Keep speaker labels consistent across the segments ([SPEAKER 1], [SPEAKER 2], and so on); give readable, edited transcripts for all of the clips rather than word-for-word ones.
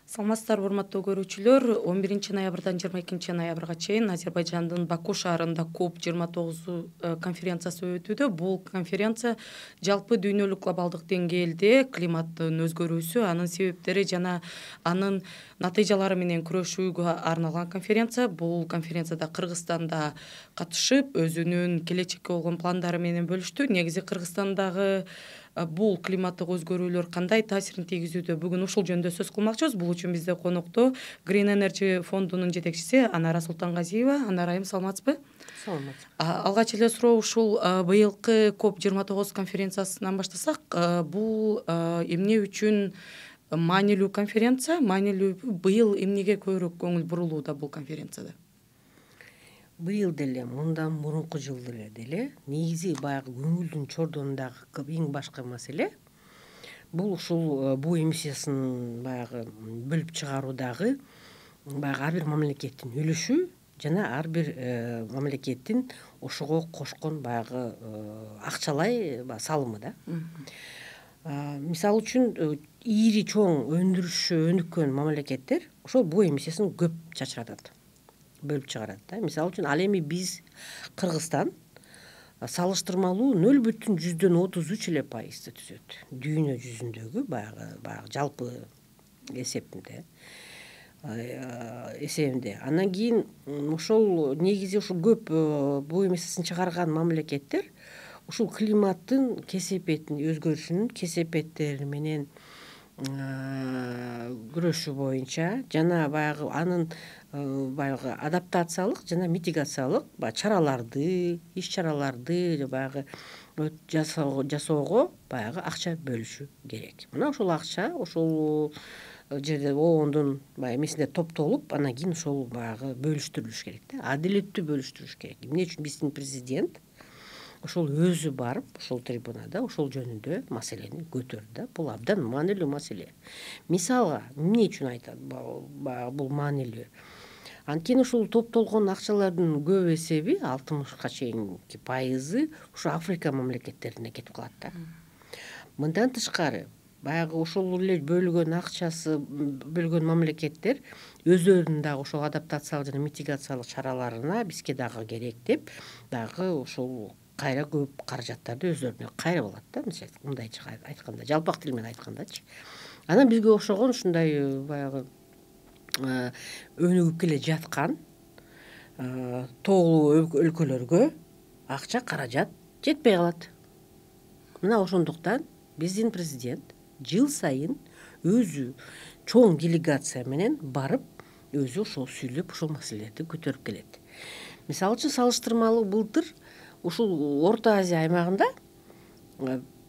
[SPEAKER 1] Саламатсыздарбы, урматтуу көрүүчүлөр. 11 ноябрдан 22 ноябрга чейин Азербайжандын Баку шаарында COP29 конференциясы өтүүдө. Бул конференция жалпы дүйнөлүк глобалдык деңгээлде климаттын өзгөрүүсү, анын себептери жана анын натыйжалары менен күрөшүүгө арналган конференция. Бул конференцияда Кыргызстан да катышып, өзүнүн келечекке болгон пландары менен бөлүштү. Негизи Кыргызстандагы бул климаттык өзгөрүүлөр кандай таасирин тийгизүүдө, бүгүн ушул жөнүндө сөз кылмакчыбыз. Бул үчүн бизде конокто Green Energy фондунун жетекчиси Анара Султангазиева. Анара айым, саламатсызбы?
[SPEAKER 2] Саламатсыз.
[SPEAKER 1] Алгач эле суроо ушул быйылкы COP29 конференциясынан баштасак, бул эмне үчүн маанилүү конференция? Маанилүү быйыл эмнеге көбүрөөк көңүл бурулууда бул конференцияда?
[SPEAKER 2] Быйыл деле, мындан мурунку жылы деле негизи баягы көңүлдүн чордонундагы эң башкы маселе бул ушул буу эмиссиясын баягы бөлүп чыгаруудагы баягы ар бир мамлекеттин үлүшү жана ар бир мамлекеттин ошого кошкон баягы акчалай салымы да. Мисалы үчүн ири чоң өндүрүшү өнүккөн мамлекеттер ошол буу эмиссиясын көп чачыратат, бөлүп чыгарат да. Мисалы үчүн ал эми биз Кыргызстан салыштырмалуу 0,33 эле пайызды түзөт. Дүйнө жүзүндөгү баягы жалпы эсебинде. Андан кийин ошол негизи ушул көп буу эмиссиясын чыгарган мамлекеттер ушул климаттын кесепетин өзгөрүшүнүн кесепеттери менен күрөшүү боюнча жана баягы анын баягы адаптациялык жана митигациялык чараларды, иш-чараларды баягы жасоого баягы акча бөлүшү керек. Мына ошол акча ошол жерде оондун баягы эмесинде топтолуп, анан кийин ошол баягы бөлүштүрүлүш керек да, адилеттүү бөлүштүрүш керек. Эмне үчүн биздин президент ошол өзү барып, ошол трибунада ошол жөнүндө маселени көтөрдү да. Бул абдан маанилүү маселе. Мисалга, эмне үчүн айтат бул маанилүү? Анткени ушул топтолгон акчалардын көп эсеби, 60ка чейинки пайызы ушу Африка мамлекеттерине кетип калат да. Мындан тышкары, баягы ошол эле бөлгөн акчасы бөлгөн мамлекеттер өздөрүнүн дагы ошол адаптациялык жана митигациялык чараларына бизге дагы керек деп, дагы ошол кайра көп каражаттарды өздөрүнө кайрып алат да, мындайча айтканда, жалпак тил менен айткандачы. Анан бизге окшогон ушундай баягы өнүгүп келе жаткан тоолуу өлкөлөргө акча, каражат жетпей калат. Мына ошондуктан биздин президент жыл сайын өзү чоң делегация менен барып, өзү ошол сүйлөп, ошол маселелерди көтөрүп келет. Мисалы үчүн салыштырмалуу былтыр ушул Орто Азия аймагында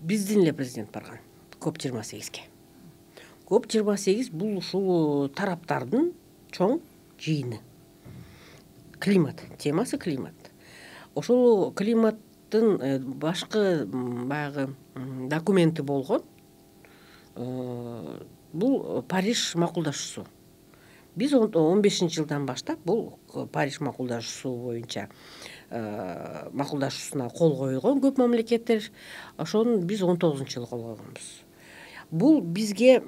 [SPEAKER 2] биздин эле президент барган COP28ге. COP28 бул ушул тараптардын чоң жыйыны. Климат, темасы климат. Ошол климаттын башкы баягы документи болгон бул Париж макулдашуусу. Биз 15-жылдан баштап бул Париж макулдашуусу боюнча макулдашуусуна кол койгон көп мамлекеттер. Ошону биз 19-жылы кол койгонбуз. Бул бизге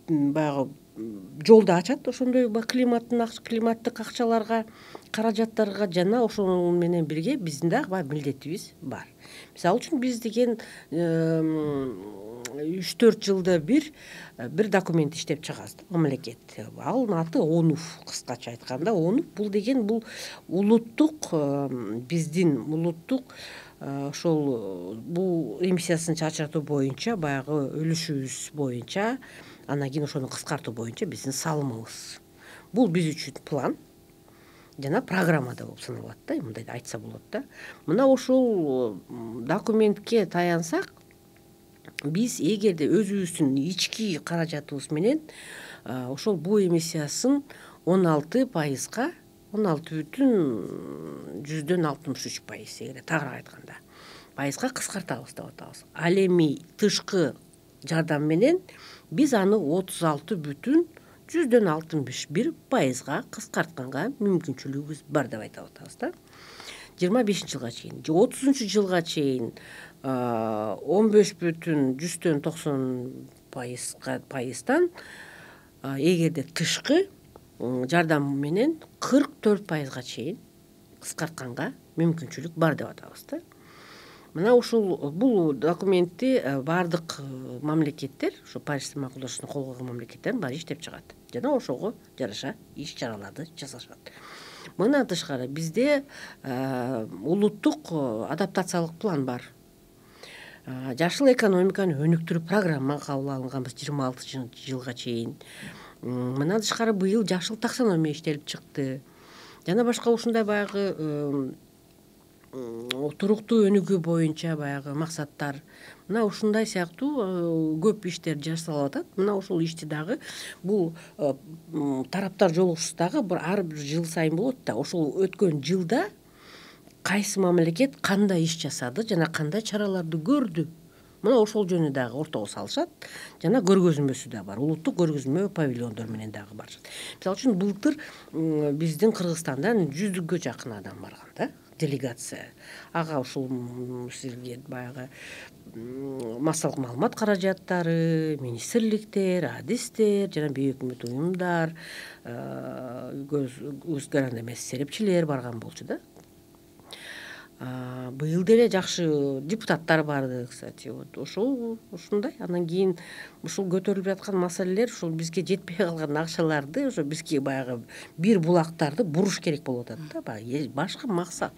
[SPEAKER 2] баягы жолду ачат ошондой климаттык акчаларга, каражаттарга жана ошол менен бирге биздин дагы баягы милдетибиз бар. Мисалы үчүн биз деген 3-4 жылда бир документ иштеп чыгабыз мамлекет. Анын аты ОНУФ, кыскача айтканда. ОНУФ бул деген бул улуттук биздин улуттук ошол бул эмиссиясын чачыратуу боюнча баягы үлүшүбүз боюнча, андан кийин ошону кыскартуу боюнча биздин салымыбыз. Бул биз үчүн план жана программада болуп саналат да, мындай айтса болот да. Мына ошол документке таянсак, биз эгерде өзүбүздүн ички каражатыбыз менен ошол буу эмиссиясын 16%, 16,63%, эгерде тагыраак айтканда, пайызга кыскартабыз деп атабыз. Ал эми тышкы жардам менен биз аны 36,61%га кыскартканга мүмкүнчүлүгүбүз бар деп айтып атабыз да. 25-жылга чейин, 30-жылга чейин 15,90%пайыздан эгерде тышкы жардам менен 44%га чейин кыскартканга мүмкүнчүлүк бар деп атабыз да. Мына бул документти баардык мамлекеттер, ушу Париж макулдашууну кол койгон мамлекеттердин баары иштеп чыгат жана ошого жараша иш чараларды жасашат. Мындан тышкары бизде улуттук адаптациялык план бар. Жашыл экономиканы өнүктүрүү программа кабыл алынганбыз 26 жылга чейин. Мындан тышкары быйыл жашыл таксономия иштелип чыкты. Жана башка ушундай баягы туруктуу өнүгүү боюнча баягы максаттар. Мына ушундай сыяктуу көп иштер жасалып атат. Мына ушул ишти дагы бул тараптар жолугушуусу дагы ар бир жыл сайын болот да. Ошол өткөн жылда кайсы мамлекет кандай иш жасады жана кандай чараларды көрдү. Мына ошол жөнү дагы ортого салышат жана көргөзмөсү да бар. Улуттук көргөзмө павильондор менен дагы барышат. Мисалы үчүн былтыр биздин Кыргызстандан 100гө жакын адам барган да, делегация. Ага ушул сизге баягы массалык маалымат каражаттары, министрликтер, адистер жана бейөкмөт уюмдар, өз грант эмес серепчилер барган болчу да. Быйыл деле жакшы депутаттар барды, кстати. Ушундай. Анан кийин ушул көтөрүлүп жаткан маселелер ушул бизге жетпей калган акчаларды ошо бизге баягы бир булактарды буруш керек болуп атат да. Баягы башка максат.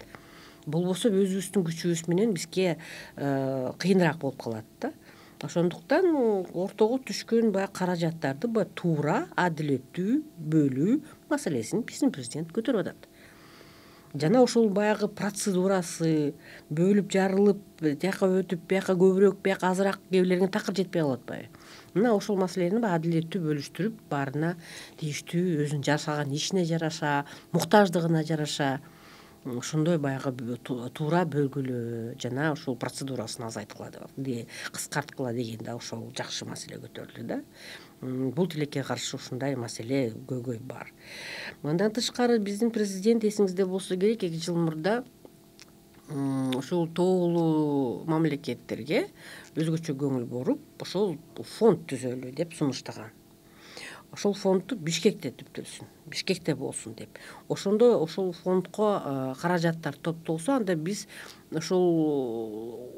[SPEAKER 2] Болбосо өзүбүздүн күчүбүз менен бизге кыйыныраак болуп калат да. Ошондуктан ортого түшкөн баягы каражаттарды туура, адилеттүү бөлүү маселесин биздин президент көтөрүп атат. Жана ошол баягы процедурасы бөлүп жарылып, тияка өтүп, бияка көбүрөөк, бияка азыраак кээ бирлерге такыр жетпей калып атпайбы? Мына ошол маселени адилеттүү бөлүштүрүп, баарына тийиштүү өзүнүн жасаган ишине жараша, муктаждыгына жараша ошондой баягы туура бөлгүлө жана ушул процедурасын азайткыла деп, кыскарткыла деген да ошол жакшы маселе көтөрүлдү да. Бул тилекке каршы ушундай маселе көйгөй бар. Мындан тышкары биздин президент эсиңизде болсо керек 2 жыл мурда ушул тоолуу мамлекеттерге өзгөчө көңүл буруп, ошол фонд түзөлү деп сунуштаган. Ошол фондду Бишкекте түптөлсүн, Бишкекте болсун деп. Ошондо ошол фондко каражаттар топтолсо, анда биз ошол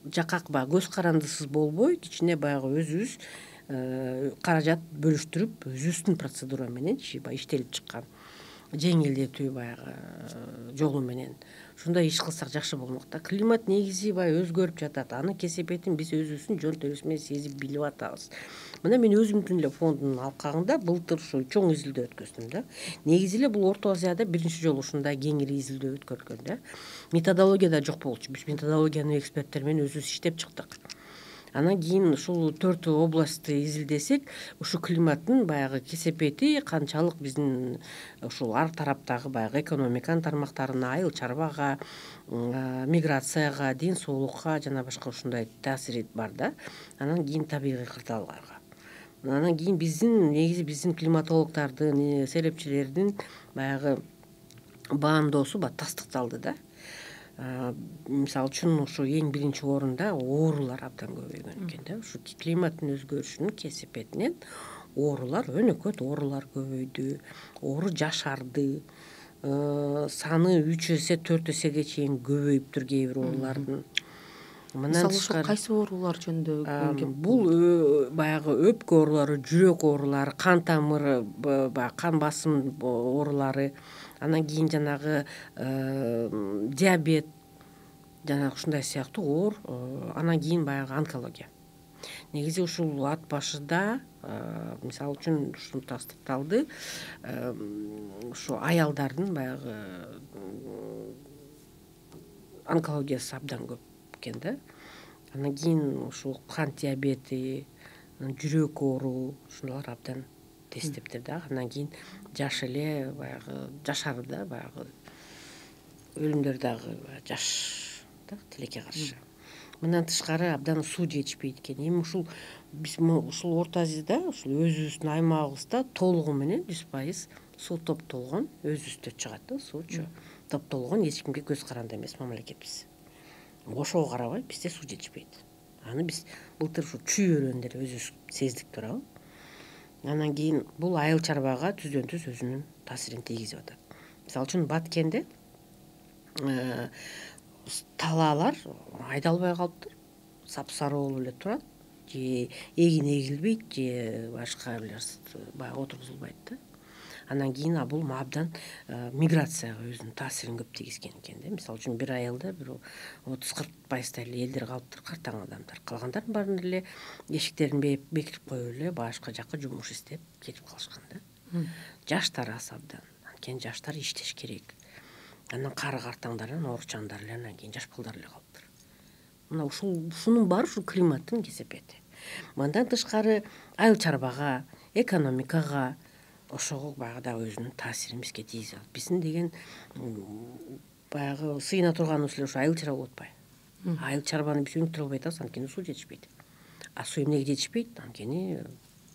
[SPEAKER 2] жакка көз карандысыз болбой, кичине баягы өзүбүз каражат бөлүштүрүп, өзүбүздүн процедура менен иштелип чыккан жеңилдетүү баягы жолу менен ушундай иш кылсак жакшы болмок да. Климат негизи өзгөрүп жатат. Анын кесепетин биз өзүбүздүн жон терибиз менен сезип билип атабыз. Мына мен өзүмдүн эле фонддун алкагында былтыр ушул чоң изилдөө өткөздүм да. Негизи эле бул Орто Азияда биринчи жолу ушундай кеңири изилдөө өткөрүлгөн да. Методология да жок болчу. Биз методологияны эксперттер менен өзүбүз иштеп чыктык. Анан кийин ушул 4 областты изилдесек, ушу климаттын баягы кесепети канчалык биздин ушул ар тараптагы баягы экономиканын тармактарына, айыл чарбага, миграцияга, ден соолукка жана башка ушундай таасири бар да. Анан кийин табигый кырдаалгарга. Анан кийин негизи биздин климатологдордун, серепчилердин баягы баамдоосу тастыкталды да. Мисалы үчүн ушу эң биринчи орунда оорулар абдан көбөйгөн экен да. Ушу климаттын өзгөрүшүнүн кесепетинен оорулар, өнөкөт оорулар көбөйдү, оору жашарды, саны 3 эсе 4 эсеге чейин көбөйүптүр кээ бир оорулардын.
[SPEAKER 1] Мисалы ошо кайсы оорулар жөнүндө?
[SPEAKER 2] Бул баягы өпкө оорулары, жүрөк оорулары, кан тамыры, кан басым оорулары, анан кийин жанагы диабет жана ушундай сыяктуу оор, анан кийин баягы онкология. Негизи ушул ат башыда мисалы үчүн ушуну тастыкталды, ушу аялдардын баягы онкологиясы абдан көп экен да. Анан кийин ушул кант диабети, жүрөк оору ушулар абдан тестептир да. Андан кийин жаш эле баягы жашары да баягы өлүмдөр дагы жаш да тилекке каршы. Мындан тышкары абдан суу жетишпейт экен. Эми биз ушул Орто Азияда ушул өзүбүздүн аймагыбызда толугу менен 100% суу топтолгон, өзүбүздө чыгат да суучу. Топтолгон, эч кимге көз каранды эмес мамлекетпиз. Ошого карабай бизде суу жетишпейт. Аны биз былтыр ушу чүй өрөөндө өзүбүз сездик туурабы. Анан кийин бул айыл чарбага түздөн түз өзүнүн таасирин тийгизип атат. Мисалы үчүн Баткенде талаалар айдалбай калыптыр, сапсары болуп эле турат, же эгин эгилбейт, же башка бир баягы отургузулбайт да. Андан кийин бул абдан миграцияга өзүнүн таасирин көп тийгизген экен да. Мисалы үчүн бир айылда бир 30-40% эле элдер калыптыр, картаң адамдар. Калгандардын баарын эле эшиктерин бекитип коюп эле башка жака жумуш издеп кетип калышкан да. Жаштар аз абдан. Анткени жаштар иштеш керек. Анан кары картаңдар, ооручандар эле, анан кийин жаш балдар эле калыптыр. Мына ушунун баары ушул климаттын кесепети. Мындан тышкары айыл чарбага, экономикага ошого баягы дагы өзүнүн таасирин бизге тийгизип атат. Биздин деген баягы сыйына турганыбыз эле ушу айыл чарба болуп атпайбы? Айыл чарбаны биз өнүктүрө албай атабыз, анткени суу жетишпейт. Суу эмнеге жетишпейт? Анткени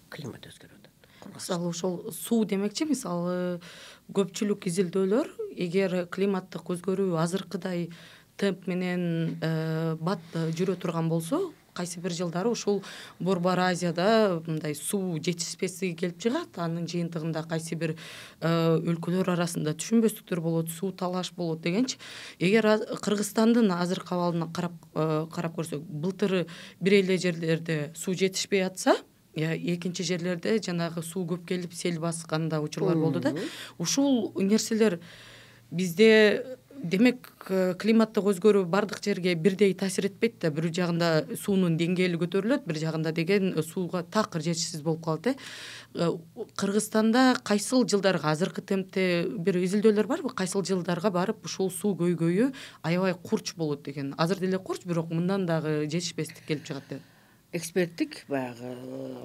[SPEAKER 2] климат өзгөрүп атат.
[SPEAKER 1] Мисалы ошол суу демекчи, мисалы көпчүлүк изилдөөлөр эгер климаттык өзгөрүү азыркыдай темп менен бат жүрө турган болсо, кайсы бир жылдары ушул Борбор Азияда мындай суу жетишпестиги келип чыгат. Анын жыйынтыгында кайсы бир өлкөлөр арасында түшүнбөстүктөр болот, суу талаш болот дегенчи. Эгер Кыргызстандын азыркы абалына карап көрсөк, былтыр бир эле жерлерде суу жетишпей атса, экинчи жерлерде жанагы суу көп келип сел баскан да учурлар болду да. Ушул нерселер бизде, демек, климаттык өзгөрүү бардык жерге бирдей таасир этпейт да. Бир жагында суунун деңгээли көтөрүлөт, бир жагында деген сууга такыр жетишсиз болуп калат. Кыргызстанда кайсыл жылдарга, азыркы темпте бир изилдөөлөр барбы? Кайсыл жылдарга барып ушул суу көйгөйү аябай курч болот деген? Азыр деле курч, бирок мындан дагы жетишпестик келип чыгат деп.
[SPEAKER 2] Эксперттик баягы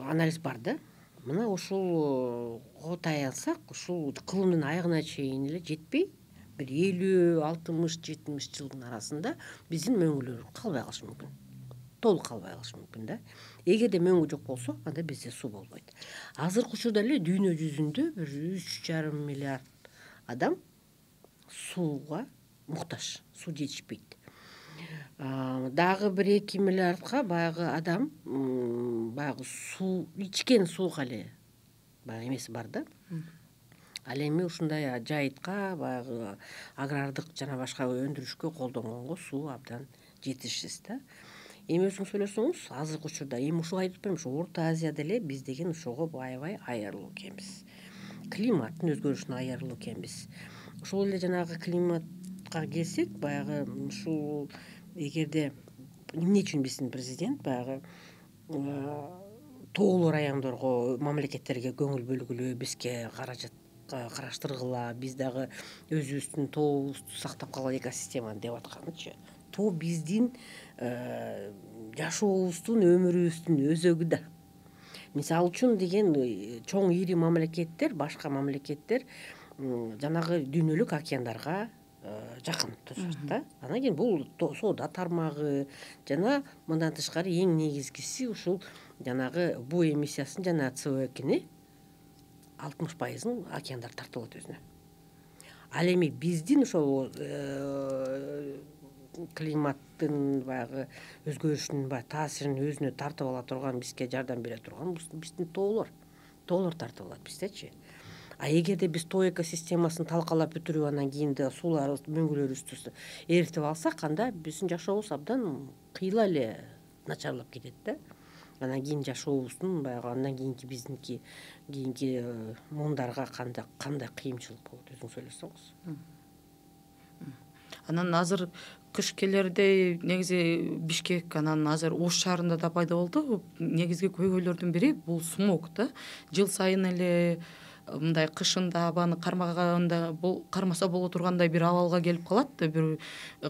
[SPEAKER 2] анализ бар да. Мына ушулго таянсак, ушул кылымдын аягына чейин эле жетпей, бир 50, 60, 70 жылдын арасында биздин мөңгүлөр калбай калышы мүмкүн. Толук калбай калышы мүмкүн да. Эгерде мөңгү жок болсо, анда бизде суу болбойт. Азыркы учурда эле дүйнө жүзүндө бир 3,5 миллиард адам сууга муктаж, суу жетишпейт. Дагы 1-2 миллиардга баягы адам баягы суу, ичкен сууга эле баягы эмеси бар да. Ал эми ушундай жайытка, баягы агрардык жана башка өндүрүшкө колдонгонго суу абдан жетишсиз да. Эми өзүңүз ойлосоңуз, азыркы учурда эми ушуга айтып атпаймынбы, ушу Орто Азияда эле биз деген ошого аябай айырылуу экенбиз. Климаттын өзгөрүшүнө айырылуу экенбиз. Ошол эле жанагы климатка келсек, баягы ушул эгерде эмне үчүн биздин президент баягы тоолуу райондорго, мамлекеттерге көңүл бөлгүлө, бизге каражат караштыргыла, биз дагы өзүбүздүн тообузду сактап калгыла, экосистеманы деп атканычы. Тоо биздин жашообуздун, өмүрүбүздүн өзөгү да. Мисалы үчүн деген чоң ири мамлекеттер, башка мамлекеттер жанагы дүйнөлүк океандарга жакын турушат да. Анан кийин бул соода тармагы жана мындан тышкары эң негизгиси ушул жанагы буу эмиссиясын жана CO2-ни 60%-ын океандар тартып алат өзүнө. Ал эми биздин ошол климаттын баягы өзгөрүшүнүн баягы таасирин өзүнө тартып ала турган, бизге жардам бере турган биздин тоолор тартып алат биздечи. Эгерде биз тоо экосистемасын талкалап бүтүрүп, анан кийин суулар, мөңгүлөрүбүздү эритип алсак, анда биздин жашообуз абдан кыйла эле начарлап кетет да. Анан кийин жашообуздун баягы андан кийинки муундарга кандай кыйынчылык болот, өзүңүз ойлосоңуз.
[SPEAKER 1] Анан азыр кыш келердей негизи Бишкек, анан азыр Ош шаарында да пайда болду. Негизги көйгөйлөрдүн бири бул смог да. Жыл сайын эле мындай кышында абаны кармаса боло тургандай бир абалга келип калат. Бир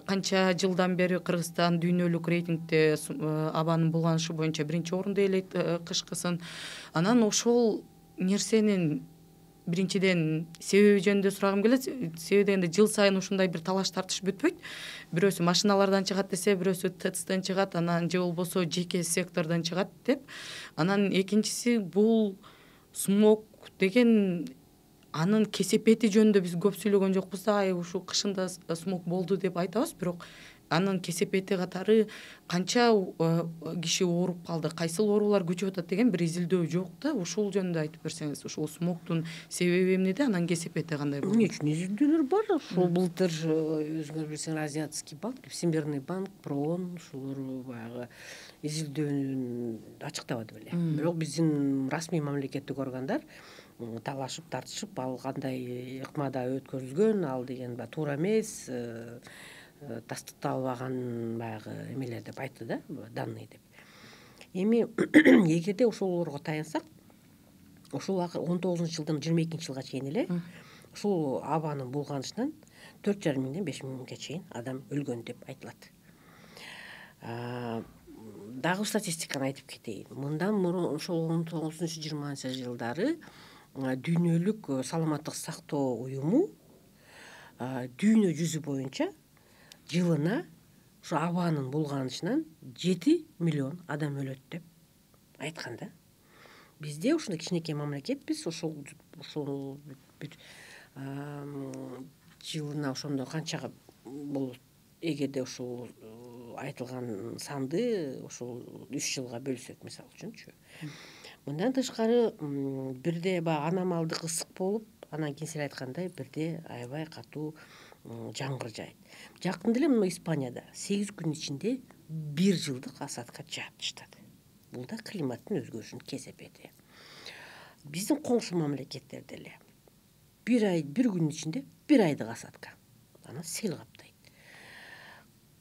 [SPEAKER 1] канча жылдан бери Кыргызстан дүйнөлүк рейтингде абанын булганышы боюнча 1-орунду ээлейт кышкысын. Анан ошол нерсенин биринчиден себеби жөнүндө сурагым келет. Себеби дегенде жыл сайын ушундай бир талаш тартыш бүтпөйт. Бирөөсү машиналардан чыгат десе, бирөөсү ТЭЦтен чыгат, анан же болбосо жеке сектордон чыгат деп. Анан экинчиси бул смог деген анын кесепети жөнүндө биз көп сүйлөгөн жокпуз да. Ушу кышында смог болду деп айтабыз, бирок анын кесепети катары канча киши ооруп калды, кайсыл оорулар күчөп атат деген бир изилдөө жок да. Ушул жөнүндө айтып берсеңиз, ушул смогтун себеби эмнеде, анан кесепети кандай болот?
[SPEAKER 2] Эмне үчүн изилдөөлөр бар. Ушул былтыр өзүңөр билсеңер Азиатский банк, Всемирный банк, ПРООН ушулар баягы изилдөөнүн ачыктабады беле. Бирок биздин расмий мамлекеттик органдар талашып тартышып, ал кандай ыкмада өткөрүлгөн, ал деген баягы туура эмес, тастыкталбаган баягы эмелер деп айтты да, данные деп. Эми эгерде ошолорго таянсак, ушул 19-жылдан 22-жылга чейин эле ушул абанын булганышынан 4,5 миңден 5 миңге чейин адам өлгөн деп айтылат. Дагы статистиканы айтып кетейин. Мындан мурун ошол 19-20 жылдары Дүйнөлүк саламаттык сактоо уюму дүйнө жүзү боюнча жылына ушу абанын булганышынан 7 миллион адам өлөт деп айткан да. Бизде ушундай кичинекей мамлекетпиз, ушул бир жылына ошондо канчага болот? Эгерде ушул айтылган санды ушул 3 жылга бөлсөк, мисалы үчүнчү. Мындан тышкары бирде баягы аномалдык ысык болуп, анан кийин силер айткандай бирде аябай катуу жамгыр жаайт. Жакында эле мына Испанияда 8 күн ичинде 1 жылдык осадка жаап таштады. Бул да климаттын өзгөрүшүнүн кесепети. Биздин коңшу мамлекеттерде эле 1 күн ичинде 1 айдык осадка, анан сел каптайт.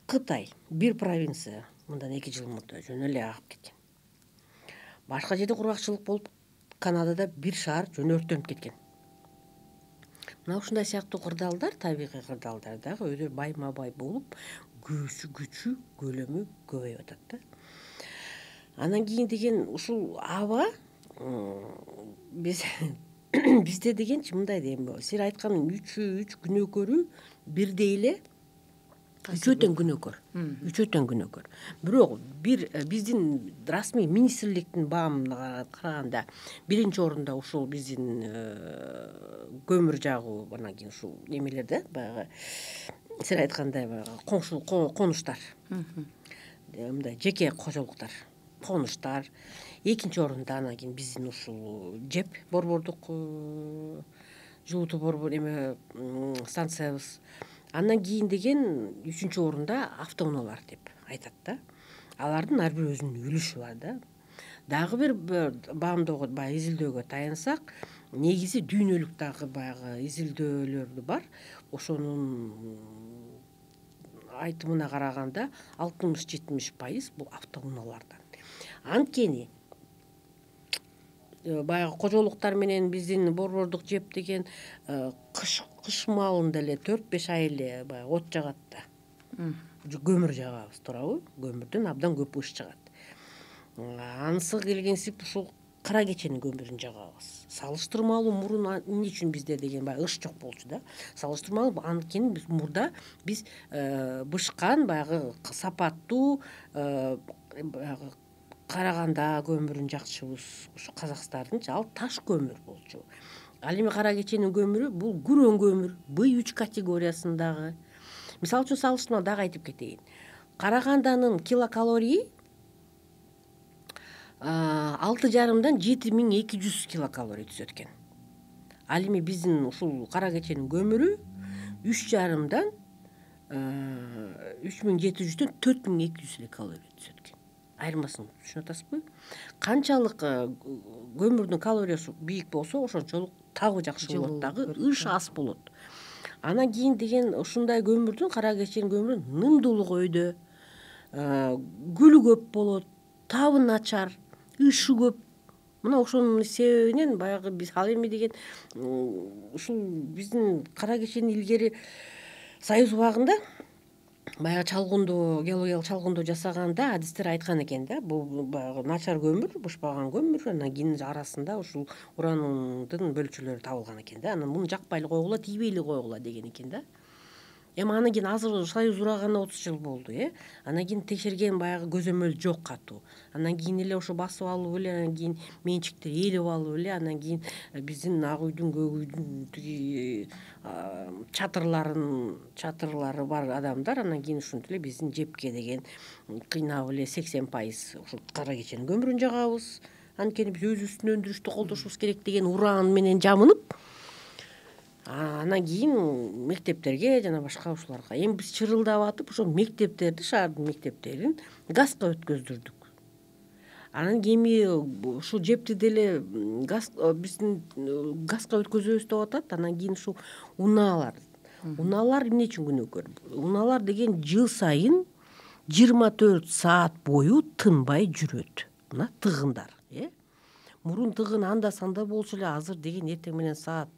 [SPEAKER 2] Кытай 1 провинция мындан 2 жыл мурда жөн эле агып кеткен. Башка жерде кургакчылык болуп, Канадада 1 шаар жөн өрттөнүп кеткен. Мына ушундай сыяктуу кырдаалдар, табигый кырдаалдар дагы өйдө байма-бай болуп, күчү, көлөмү көбөйүп атат да. Анан кийин деген ушул аба бизде дегенчи мындай дейм, силер айткан 3 күнөөкөрү бирдей эле үчөөтөн күнөөкөр. Бирок биздин расмий министрликтин баамына караганда 1-орунда ушул биздин көмүр жагуу, анан кийин ушул немелерде баягы силер айткандай баягы коңшу конуштар, мындай жеке кожолуктар, конуштар. 2-орунда анан кийин биздин ушул ЖЭП борбордук жылутуу борбор эме станциябыз. Андан кийин деген 3-орунда автоунаалар деп айтат да. Алардын ар бир өзүнүн үлүшү бар да. Дагы бир баамдоого, баягы изилдөөгө таянсак, негизи дүйнөлүк дагы баягы изилдөөлөр бар. Ошонун айтымына караганда 60-70% бул автоунаалардан. Анткени баягы кожолуктар менен биздин борбордук ЖЭП деген кыш маалында эле 4-5 ай эле баягы от жагат да. Көмүр жагабыз, туурабы? Көмүрдөн абдан көп ыш чыгат. Анысы келгенсип ушул кара кеченин көмүрүн жагабыз. Салыштырмалуу мурун эмне үчүн бизде деген баягы ыш жок болчу да. Салыштырмалуу анткени биз мурда бышкан баягы сапаттуу баягы Караганда көмүрүн жакчыбыз. Ушу Казакстандын ал таш көмүр болчу. Ал эми кара кеченин көмүрү бул күрөң көмүр, B3 категориясындагы. Мисалы үчүн салыштырма дагы айтып кетейин. Караганданын килокалории 6,5-дан 7200 килокалорий түзөт экен. Ал эми биздин ушул кара кеченин көмүрү 3,5-дан 3700-дөн 4200 калорий түзөт экен. Айырмасын түшүнүп атасызбы? Канчалык көмүрдүн калориясы бийик болсо, ошончолук табы жакшы болот дагы, ыш аз болот. Анан кийин деген ушундай көмүрдүн, кара кеченин көмүрүнүн нымдуулугу өйдө, гүлү көп болот, табы начар, ышы көп. Мына ошонун себебинен баягы биз ал эми деген ушул биздин кара кечени илгери Союз убагында баягы чалгындоо, геологиялык чалгындоо жасаганда адистер айткан экен да, бул баягы начар көмүр, бышпаган көмүр, анан кийин арасында ушул урандын бөлчөлөрү табылган экен да. Анан муну жакпай эле койгула, тийбей эле койгула деген экен да. Эми анан кийин азыр Союз ураганы 30 жыл болду, анан кийин текшерген баягы көзөмөл жок катуу. Анан кийин эле ошо басып алып эле, анан кийин менчикти ээлеп алып эле, анан кийин биздин ак үйдүн, көк үйдүн тиги чатырлары бар адамдар анан кийин ушинтип эле биздин жепке деген кыйнап эле 80% ушул кара кеченин көмүрүн жагабыз. Анткени биз өзүбүздүн өндүрүштү колдошубуз керек деген уран менен жамынып, анан кийин мектептерге жана башка ушуларга эми биз чырылдап атып ошол мектептерди, шаардын мектептерин газга өткөздүрдүк. Анан эми ушул жепти деле биздин газга өткөзөбүз деп атат. Анан кийин ушул унаалар эмне үчүн күнөөкөр? Унаалар деген жыл сайын 24 саат бою тынбай жүрөт. Мына тыгындар, мурун тыгын анда санда болчу эле, азыр деген эртең менен саат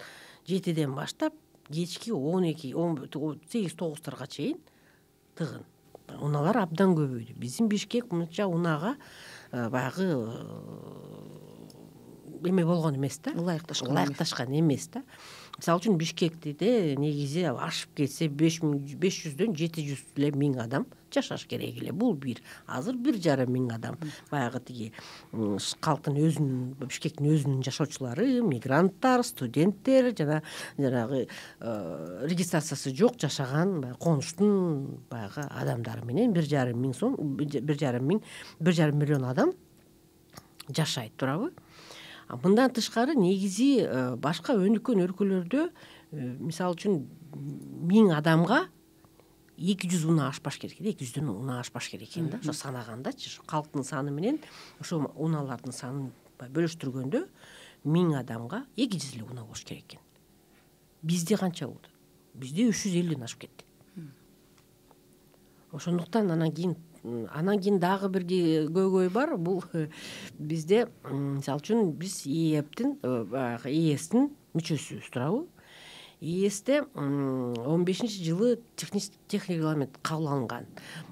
[SPEAKER 2] 7ден баштап кечки 8-9 чейин тыгын. Унаалар абдан көбөйдү. Биздин Бишкек мынча унага баягы эме болгон эмес да, ылайыкташкан эмес да. Мисалы үчүн Бишкектиде негизи ашып кетсе 500дөн 700 эле миң адам жашаш керек эле. Бул азыр 1,5 миң адам баягы тиги калктын өзүнүн, Бишкектин өзүнүн жашоочулары, мигранттар, студенттер жана жанагы регистрациясы жок жашаган конуштун баягы адамдары менен 1,5 миллион адам жашайт, туурабы? Мындан тышкары негизи башка өнүккөн өлкөлөрдө мисалы үчүн 1000 адамга 200 унаа ашпаш керек, 200дөн унаа ашпаш керек экен да. Ошо санагандачы, калктын саны менен ошо унаалардын санын бөлүштүргөндө 1000 адамга 200 эле унаа болуш керек экен. Бизде канча болду? Бизде 350ден ашып кетти. Ошондуктан анан кийин дагы бир көйгөй бар. Бул бизде мисалы үчүн биз ЕСтин мүчөсүбүз, туурабы? ЕСте 15-жылы техник регламент кабыл алынган.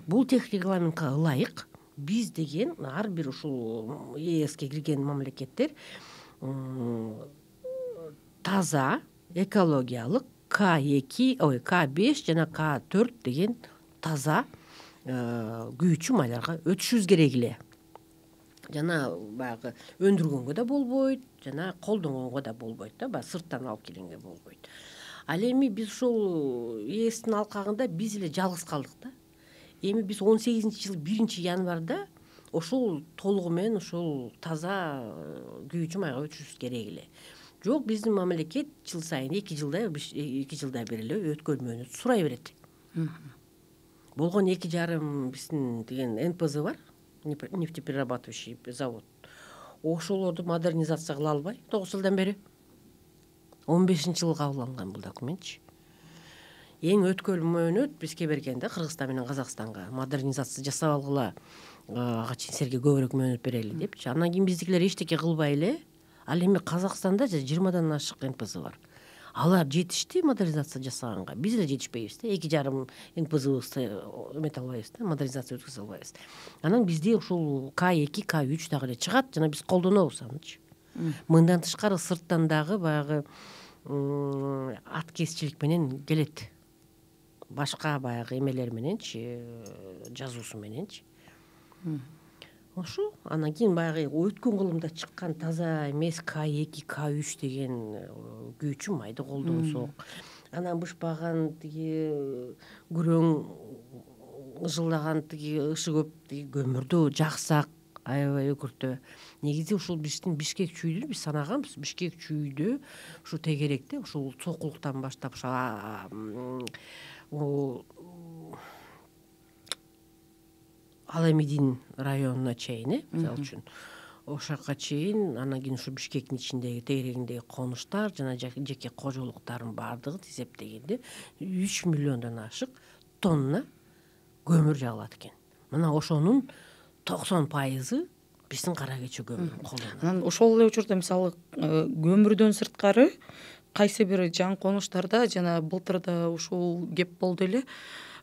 [SPEAKER 2] Бул техник регламентке ылайык биз деген ар бир ушул ЕСке кирген мамлекеттер таза, экологиялык К5 жана К4 деген таза күйүүчү майларга өтүшүбүз керек эле. Жана баягы өндүргөнгө да болбойт, жана колдонгонго да болбойт да, баягы сырттан алып келгенге болбойт. Ал эми биз ушул ЕСтин алкагында биз эле жалгыз калдык да. Эми биз 18-жылы 1-январда ошол толугу менен ошол таза күйүүчү майга өтүшүбүз керек эле. Жок, биздин мамлекет жыл сайын 2 жылда бир эле өткөл мөөнөт сурай берет. Болгон 2,5 биздин деген НПЗ бар, нефтеперерабатывающий завод. Ошолорду модернизация кыла албай 9 жылдан бери. 15-жылы кабыл алынган бул документчи. Эң өткөл мөөнөт бизге берген да, Кыргызстан менен Казакстанга модернизация жасап алгыла, ага чейин силерге көбүрөөк мөөнөт берели депчи. Андан кийин биздикилер эчтеке кылбай эле. Ал эми Казакстанда 20дан ашык НПЗ бар. Алар жетишти модернизация жасаганга. Биз эле жетишпейбиз да. 2,5 НПЗ эмете албайбыз да, модернизация өткөзө албайбыз. Анан бизде ушул К2, К3 дагы эле чыгат, жана биз колдонобуз анычы. Мындан тышкары сырттан дагы баягы аткезчилик менен келет. Башка баягы эмелер мененчи, жазуусу мененчи. Ошо анан кийин баягы өткөн кылымда чыккан таза эмес К2, К3 деген күйүүчү майды колдонсок, анан бышпаган тиги күрөң ыжылдаган тиги ышы көп тиги көмүрдү жаксак, аябай өкүртө. Негизи ушул биздин Бишкек чүйдү биз санаганбыз. Бишкек чүйдү ушу тегеректе ушул Сокулуктан баштап Аламедин районуна чейин, мисалы үчүн ошака чейин, анан кийин ушу Бишкектин ичиндеги тегерегиндеги конуштар жана жеке кожолуктардын баардыгын эсептегенде 3 миллиондон ашык тонна көмүр жагылат экен. Мына ошонун 90% биздин кара кече көмүрүн колдонот.
[SPEAKER 1] Анан ошол эле учурда мисалы көмүрдөн сырткары кайсы бир жаңы конуштарда жана былтырда ушул кеп болду эле.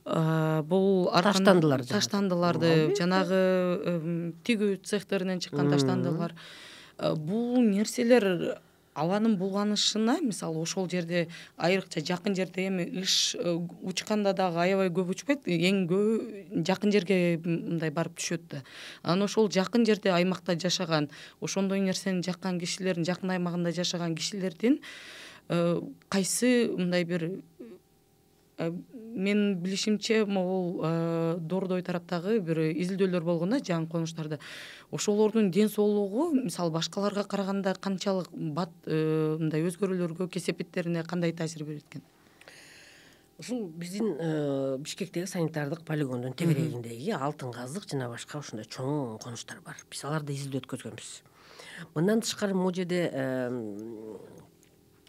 [SPEAKER 1] Бул таштандыларды жанагы тигүү цехтеринен чыккан таштандылар. Бул нерселер абанын булганышына мисалы ошол жерде айрыкча жакын жерде эми ыш учканда дагы аябай көп учпайт, эң көбү жакын жерге мындай барып түшөт да. Анан ошол жакын жерде аймакта жашаган, ошондой нерсени жаккан кишилердин, жакын аймагында жашаган кишилердин кайсы мындай бир менин билишимче могул Дордой тараптагы бир изилдөөлөр болгон да жаңы конуштарда. Ошолордун ден соолугу мисалы башкаларга караганда канчалык бат мындай өзгөрүүлөргө, кесепеттерине кандай таасир берет экен?
[SPEAKER 2] Ушул биздин Бишкектеги санитардык полигондун тегерегиндеги Алтын казык жана башка ушундай чоң конуштар бар. Биз аларда изилдөө өткөзгөнбүз. Мындан тышкары могу жерде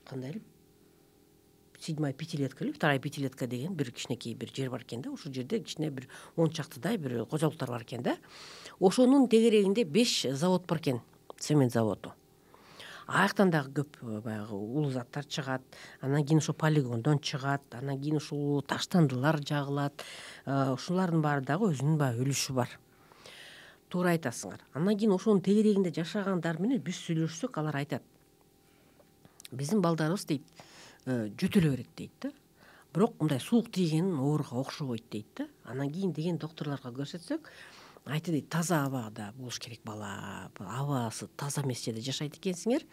[SPEAKER 2] кандай эле 7-я пятилетка или 2-я пятилетка деген бир кичинекей бир жер бар экен да. Ошол жерде кичине бир 10 чактыдай бир кожолуктар бар экен да. Ошонун тегерегинде 5 завод бар экен, цемент заводу. Аяктан дагы көп баягы улуу заттар чыгат. Анан кийин ошо полигондон чыгат. Анан кийин ушул таштандылар жагылат. Ушулардын баары дагы өзүнүн баягы үлүшү бар. Туура айтасыңар. Анан кийин ошонун тегерегинде жашагандар менен биз сүйлөшсөк, алар айтат: биздин балдарыбыз дейт, жөтөлө берет дейт да. Бирок мындай суук тийген ооруга окшобойт дейт да. Анан кийин деген доктурларга көрсөтсөк, айтты дейт, таза абада болуш керек бала. Абасы таза эмес жерде жашайт экенсиңер,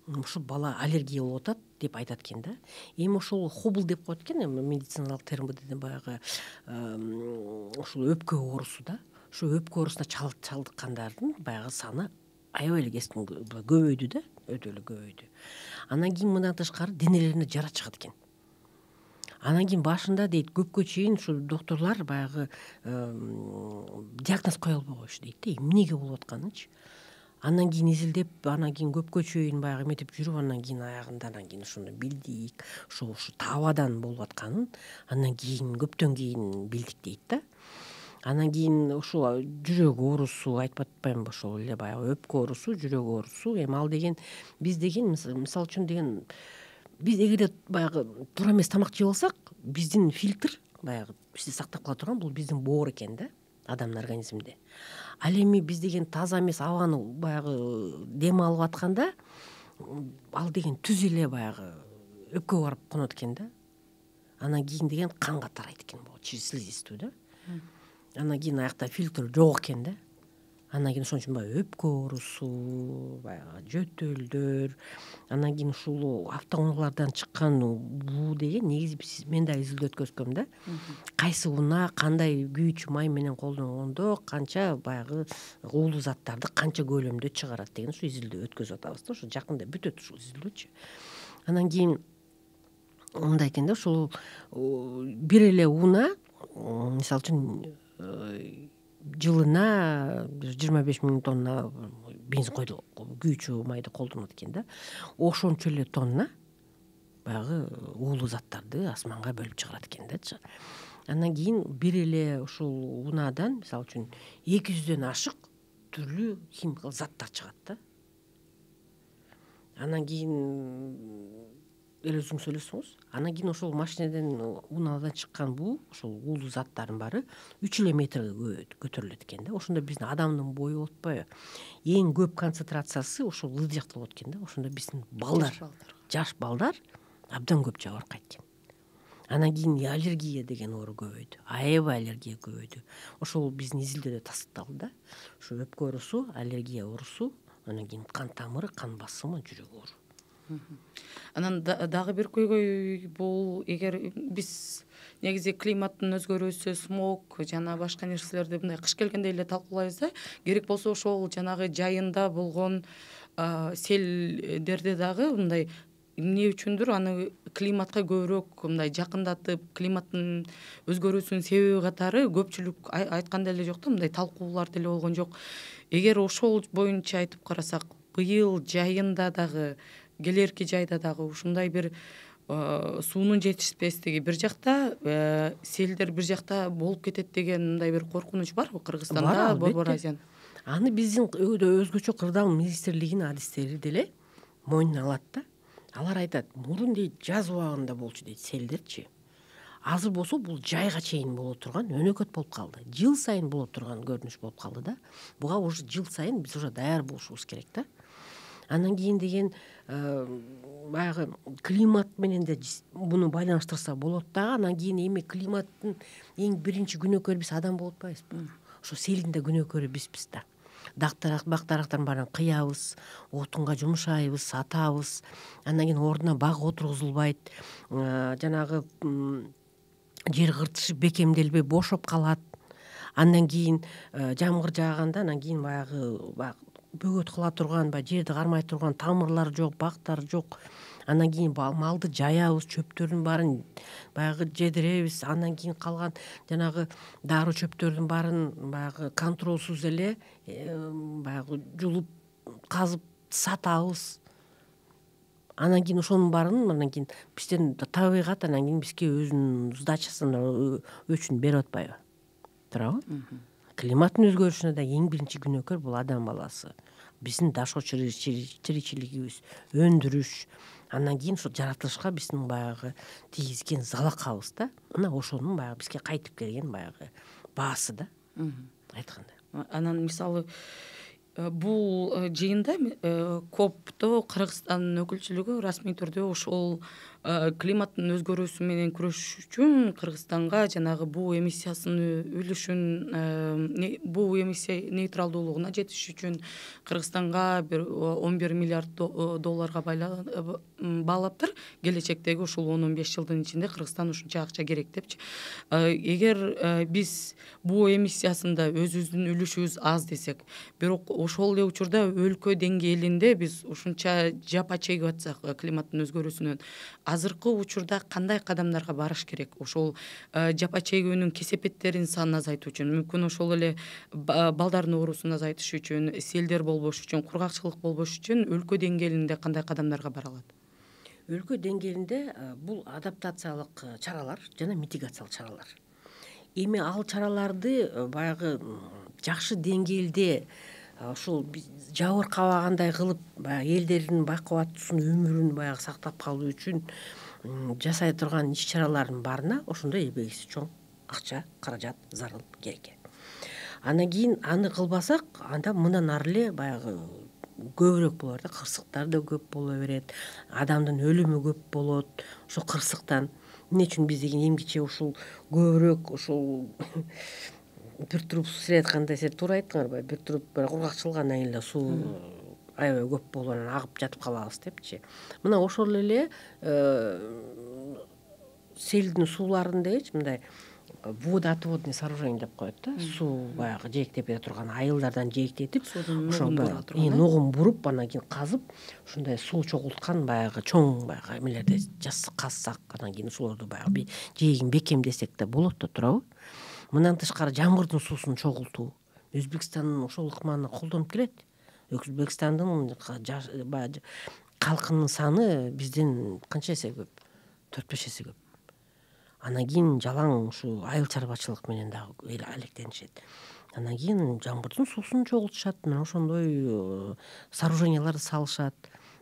[SPEAKER 2] ушул бала аллергия болуп атат деп айтат экен да. Эми ошол хобл деп коет экен, эми медициналык термден баягы ушул өпкө оорусу да. Ошо өпкө оорусуна чалдыккандардын баягы саны аябай эле кескин көбөйдү да, өтө эле көбөйдү. Анан кийин мындан тышкары денелерине жара чыгат экен. Анан кийин башында дейт көпкө чейин ушул доктурлар баягы диагноз кое албай коюшу дейт да, эмнеге болуп атканынчы. Анан кийин изилдеп, анан кийин көпкө чейин баягы эметип жүрүп, анан кийин аягында анан кийин ошону билдик, ушу табадан болуп атканын андан кийин көптөн кийин билдик дейт да. Анан кийин ушул жүрөк оорусу, айтып атпаймынбы, ошол эле баягы өпкө оорусу, жүрөк оорусу. Эми ал деген биз деген мисалы үчүн деген биз эгерде баягы туура эмес тамак жеп алсак, биздин фильтр баягы бизди сактап кала турган бул биздин боор экен да, адамдын организминде. Ал эми биз деген таза эмес абаны баягы дем алып атканда, ал деген түз эле баягы өпкөгө барып конот экен да. Анан кийин деген канга тарайт экен, бул слизистүү да. Анан кийин аякта фильтр жок экен да. Анан кийин ошон үчүн баягы өпкө оорусу, баягы жөтөлдөр, анан кийин ушул автоунаалардан чыккан буу деген негизи мен да изилдөө өткөзгөм да. Кайсы унаа кандай күйүүчү май менен колдонгондо канча баягы уулуу заттарды канча көлөмдө чыгарат деген ушу изилдөө өткөзүп атабыз да. Ошо жакында бүтөт ушул изилдөөчү. Анан кийин мындай экен да, ушул бир эле унаа мисалы үчүн жылына 25 000 тонна бензин күйүүчү майды колдонот экен да. Ошончо эле тонна баягы уулуу заттарды асманга бөлүп чыгарат экен да. Андан кийин бир эле ушул унаадан мисалы үчүн 200дөн ашык түрлүү химикалык заттар чыгат да. Анан кийин өзүңүз ойлосоңуз, анан кийин ошол машинеден, унаадан чыккан буу, ошол уулуу заттардын баары 3 эле метрге көтөрүлөт экен да. Ошондо биздин адамдын бою болуп атпайбы? Эң көп концентрациясы ошол ылдый жакта болот экен да. Ошондо биздин балдар, жаш балдар абдан көп жабыркайт экен. Анан кийин аллергия деген оору көбөйдү. Аябай аллергия көбөйдү. Ошол биздин изилдөөдө тастыкталды да. Ошо өпкө оорусу, аллергия оорусу, анан кийин кан тамыры, кан басымы, жүрөк оору.
[SPEAKER 1] Анан дагы бир көйгөй бул, эгер биз негизи климаттын өзгөрүүсү, смог жана башка нерселерди мындай кыш келгенде эле талкуулайбыз да, керек болсо ошол жанагы жайында болгон селдерди дагы мындай эмне үчүндүр аны климатка көбүрөөк мындай жакындатып, климаттын өзгөрүүсүнүн себеби катары көпчүлүк айткан деле жок да, мындай талкуулар деле болгон жок. Эгер ошол боюнча айтып карасак, быйыл жайында дагы, келерки жайда дагы ушундай бир суунун жетишпестиги бир жакта, селдер бир жакта болуп кетет деген мындай бир коркунуч барбы Кыргызстанда, Борбор Азиян?
[SPEAKER 2] Аны биздин өзгөчө кырдаал министрлигинин адистери деле мойнуна алат да. Алар айтат, мурун дейт жаз убагында болчу дейт селдерчи. Азыр болсо бул жайга чейин боло турган өнөкөт болуп калды. Жыл сайын боло турган көрүнүш болуп калды да. Буга уже жыл сайын биз уже даяр болушубуз керек да. Анан кийин деген баягы климат менен да буну байланыштырса болот дагы. Анан кийин эми климаттын эң биринчи күнөөкөрү биз адам болуп атпайбызбы? Ошо селдин да күнөөкөрү бизбиз да. Бак дарактардын баарын кыябыз, отунга жумшайбыз, сатабыз. Андан кийин ордуна бак отургузулбайт, жанагы жер кыртышы бекемделбей бошоп калат. Андан кийин жамгыр жааганда анан кийин баягы бөгөт кыла турган, баягы жерди кармай турган тамырлар жок, бактар жок. Андан кийин малды жаябыз, чөптөрдүн баарын баягы жедиребиз. Андан кийин калган жанагы дару чөптөрдүн баарын баягы контролсуз эле баягы жулуп, казып сатабыз. Анан кийин ошонун баарын андан кийин бизден табигат анан кийин бизге өзүнүн сдачасын өчүн берип атпайбы? Туурабы? Климаттын өзгөрүшүнө да эң биринчи күнөөкөр бул адам баласы. Биздин дашоо тиричилигибиз, өндүрүш, андан кийин ошо жаратылышка биздин баягы тийгизген залакабыз да. Мына ошонун баягы бизге кайтып келген баягы баасы да, айтканда.
[SPEAKER 1] Анан мисалы бул жыйында копто Кыргызстандын өкүлчүлүгү расмий түрдө ошол климаттын өзгөрүүсү менен күрөшүш үчүн Кыргызстанга жанагы буу эмиссиясынын үлүшүн, буу эмиссия нейтралдуулугуна жетиш үчүн Кыргызстанга бир 11 миллиард долларга баалаптыр. Келечектеги ушул 10-15 жылдын ичинде Кыргызстан ушунча акча керек депчи. Эгер биз буу эмиссиясында өзүбүздүн үлүшүбүз аз десек, бирок ошол эле учурда өлкө деңгээлинде биз ушунча жапа чегип атсак климаттын өзгөрүүсүнөн, азыркы учурда кандай кадамдарга барыш керек? Ошол жапа чегүүнүн кесепеттеринин санын азайтуу үчүн, мүмкүн ошол эле балдардын оорусун азайтыш үчүн, селдер болбош үчүн, кургакчылык болбош үчүн өлкө деңгээлинде кандай кадамдарга бара алат?
[SPEAKER 2] Өлкө деңгээлинде бул адаптациялык чаралар жана митигациялык чаралар. Эми ал чараларды баягы жакшы деңгээлде ушул жабыркабагандай кылып баягы элдердин бакубаттуусун өмүрүн баягы сактап калуу үчүн жасай турган иш чаралардын баарына ошондой эбегиси чоң акча, каражат зарыл керек. Андан кийин аны кылбасак, анда мындан ары эле баягы көбүрөөк боло берет, кырсыктар да көп боло берет, адамдын өлүмү көп болот ошо кырсыктан. Эмне үчүн биз деген эмгиче ушул көбүрөөк ушул бир туруп суу сейретканда, сиз туура айттыңарбы, бир туруп кургакчылык андан кийин эле суу аябай көп болуп анан агып жатып калабыз депчи. Мына ошол эле селдин сууларындагычы мындай водоотводный сооружение деп коет да. Суу баягы жээктеп кете турган айылдардан жээктетип, ошо нугун буруп, анан кийин казып, ушундай суу чогулткан баягы чоң баягы эмелерди казсак, анан кийин ошолорду баягы жээгин бекемдесек да болот да, туурабы? Мындан тышкары жамгырдын суусун чогултуу Өзбекстандын ошол ыкманы колдонуп келет. Өзбекстандын калкынын саны бизден канча эсе көп? 4-5 эсе көп. Анан кийин жалаң ушу айыл чарбачылык менен дагы алектенишет. Андан кийин жамгырдын суусун чогултушат, мына ошондой сооруженияларды салышат.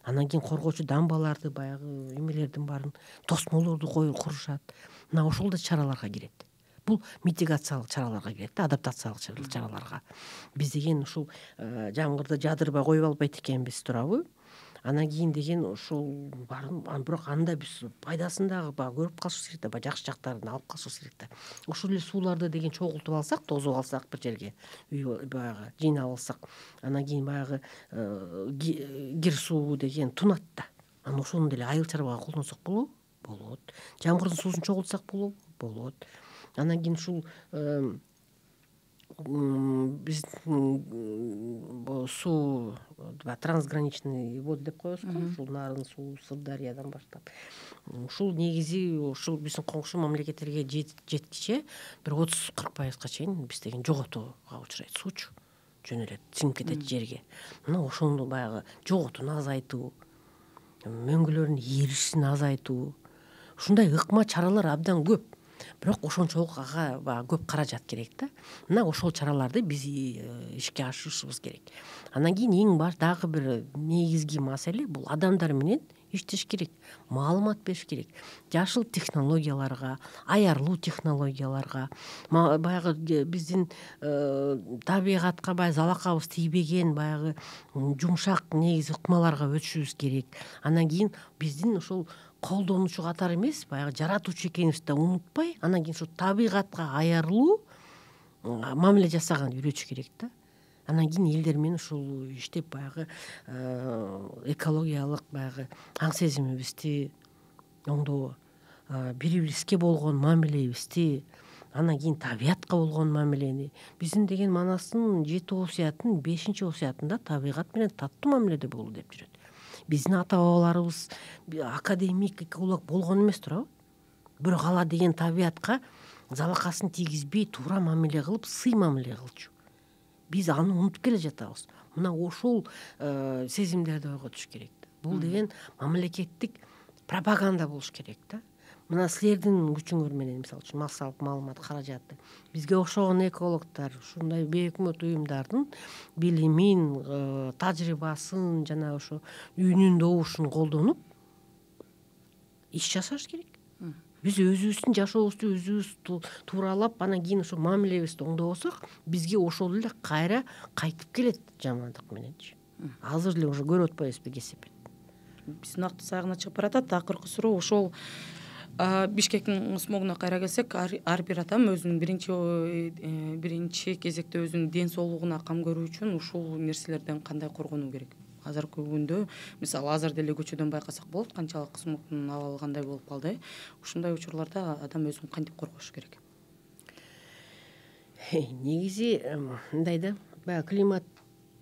[SPEAKER 2] Андан кийин коргоочу дамбаларды баягы эмелердин баарын, тосмолорду курушат. Мына ошол да чараларга кирет. Бул митигациялык чараларга кирет да, адаптациялык чараларга. Биз деген ушул жамгырды жадырбай коюп албайт экенбиз, туурабы? Анан кийин деген ошол баарын, бирок анда биз пайдасын дагы баягы көрүп калышыбыз керек да, баягы жакшы жактарын алып калышыбыз керек да. Ошол эле сууларды деген чогултуп алсак, тосуп алсак бир жерге, баягы жыйнап алсак, анан кийин баягы кир суу деген тунат да. Анан ошону деле айыл чарбага колдонсок болобу? Болот. Жамгырдын суусун чогултсак болобу? Болот. Анан кийин ушул биз суу трансграничный воды деп коебузго, ушул Нарын суу, Сырдарыядан баштап. Ушул негизи ушул биздин коңшу мамлекеттерге жеткиче бир 30-40% чейин биз деген жоготууга учурайт, суучу жөнөлөт, сиңип кетет жерге. Мына ошону баягы жоготууну азайтуу, мөңгүлөрдүн эришин азайтуу, ушундай ыкма чаралар абдан көп. Бирок ошончолук ага баягы көп каражат керек да. Мына ошол чараларды биз ишке ашырышыбыз керек. Андан кийин эң дагы бир негизги маселе бул адамдар менен иштеш керек, маалымат бериш керек. Жашыл технологияларга, аярлуу технологияларга, баягы биздин табигатка баягы залакабыз тийбеген баягы жумшак негизи ыкмаларга өтүшүбүз керек. Анан кийин биздин ушул колдонуучу катары эмес, баягы жаратуучу экенибизди да унутпай, анан кийин ушу табигатка аярлуу мамиле жасаганды үйрөтүш керек да. Анан кийин элдер менен ушул иштеп баягы экологиялык баягы аң сезимибизди оңдоо, бири бирибизге болгон мамилебизди, анан кийин табиятка болгон мамилени. Биздин деген Манастын 7 5 осуятында табигат менен таттуу мамиледе болуу деп жүрөт. Биздин ата бабаларыбыз академик, эколог болгон эмес туурабы? Бирок ала деген табиятка залакасын тийгизбей туура мамиле кылып, сый мамиле кылчу. Биз аны унутуп келе жатабыз. Мына ошол сезимдерди ойготуш керек да. Бул деген мамлекеттик пропаганда болуш керек да. Мына силердин күчүңөр менен, мисалы үчүн массалык маалымат каражаты, бизге окшогон экологдор ушундай бейөкмөт уюмдардын билимин, тажрыйбасын жана ошо үнүн добушун колдонуп иш жасаш керек. Биз өзүбүздүн жашообузду өзүбүз тууралап, анан кийин ошо мамилебизди оңдобосок, бизге ошол эле кайра кайтып келет жамандык мененчи. Азыр эле уже көрүп атпайбызбы кесепет.
[SPEAKER 1] Биздин убакыт сагына чыгып баратат. Акыркы суроо ошол Бишкектин ысмогуна кайра келсек, ар бир адам өзүнүн биринчи кезекте өзүнүн ден соолугуна кам көрүү үчүн ушул нерселерден кандай коргонуу керек? Азыркы күндө, мисалы, азыр деле көчөдөн байкасак болот, канчалык ысмогдун абалы кандай болуп калды. Ушундай учурларда адам өзүн кантип коргош керек?
[SPEAKER 2] Негизи мындай да, баягы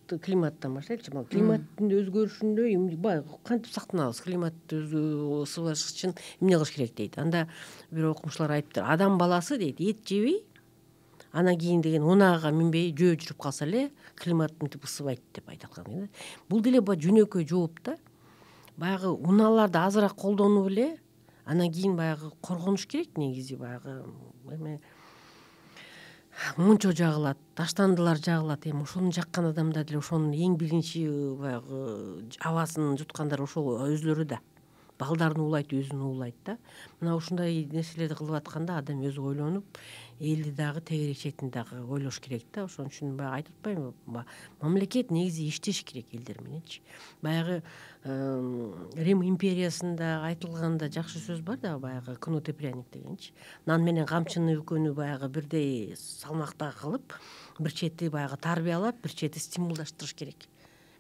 [SPEAKER 2] климаттан баштайлычы. Климаттын өзгөрүшүндө баягы кантип сактанабыз? Климатты ысыбаш үчүн эмне кылыш керек дейт. Анда бир окумуштуулар айтыптыр. Адам баласы дейт, эт жебей, анан кийин деген унаага минбей жөө жүрүп калса эле климат мынтип ысыбайт деп айтып аткан. Бул деле жөнөкөй жооп да. Баягы унааларды азыраак колдонуп эле, анан кийин баягы коргонуш керек. Негизи баягы мунчо жагылат, таштандылар жагылат. Ошону жаккан адамдар деле ошонун эң биринчи баягы абасын жуткандар ошол өзлөрү да. Балдарын уулайт, өзүн уулайт да. Мына ушундай нерселерди кылып атканда адам өзү ойлонуп, элди дагы тегерек четин дагы ойлош керек да. Ошон үчүн баягы айтып атпаймынбы? Мамлекет негизи иштеш керек элдер мененчи. Баягы Рим империясында айтылганда жакшы сөз бар да, баягы кнут и пряник дегенчи. Нан менен камчыны экөөнү баягы бирдей салмакта кылып, бир чети баягы тарбиялап, бир чети стимулдаштырыш керек.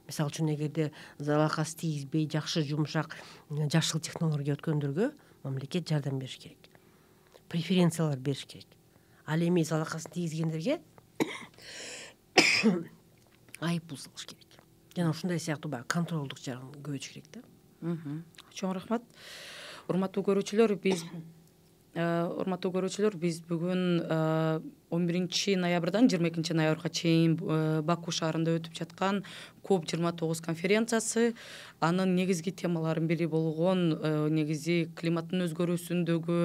[SPEAKER 2] Мисалы үчүн эгерде залакасы тийгизбей жакшы жумшак жашыл технология өткөндөргө мамлекет жардам бериш керек. Преференциялар бериш керек. Ал эми залакасын тийгизгендерге айып пул салыш керек. Жана ушундай сыяктуу баягы контролдук жагын көбөйтүш керек да.
[SPEAKER 1] Чоң рахмат. Урматтуу көрүүчүлөр, биз бүгүн 11 ноябрдан 22 ноябрга чейин Баку шаарында өтүп жаткан COP29 конференциясы, анын негизги темаларынын бири болгон негизи климаттын өзгөрүүсүндөгү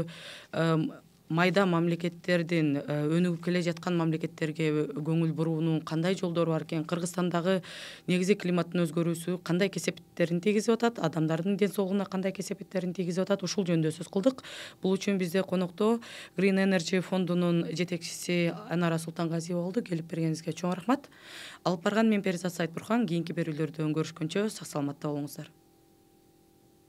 [SPEAKER 1] майда мамлекеттердин, өнүгүп келе жаткан мамлекеттерге көңүл буруунун кандай жолдору бар экен, Кыргызстандагы негизи климаттын өзгөрүүсү кандай кесепеттерин тийгизип атат, адамдардын ден соолугуна кандай кесепеттерин тийгизип атат, ушул жөнүндө сөз кылдык. Бул үчүн бизде конокто Green Energy фондунун жетекчиси Анара Султангазиева болду. Келип бергениңизге чоң рахмат. Алып барган мен Перизат Сайтбурхан. Кийинки берүүлөрдө көрүшкөнчө сак саламатта болуңуздар.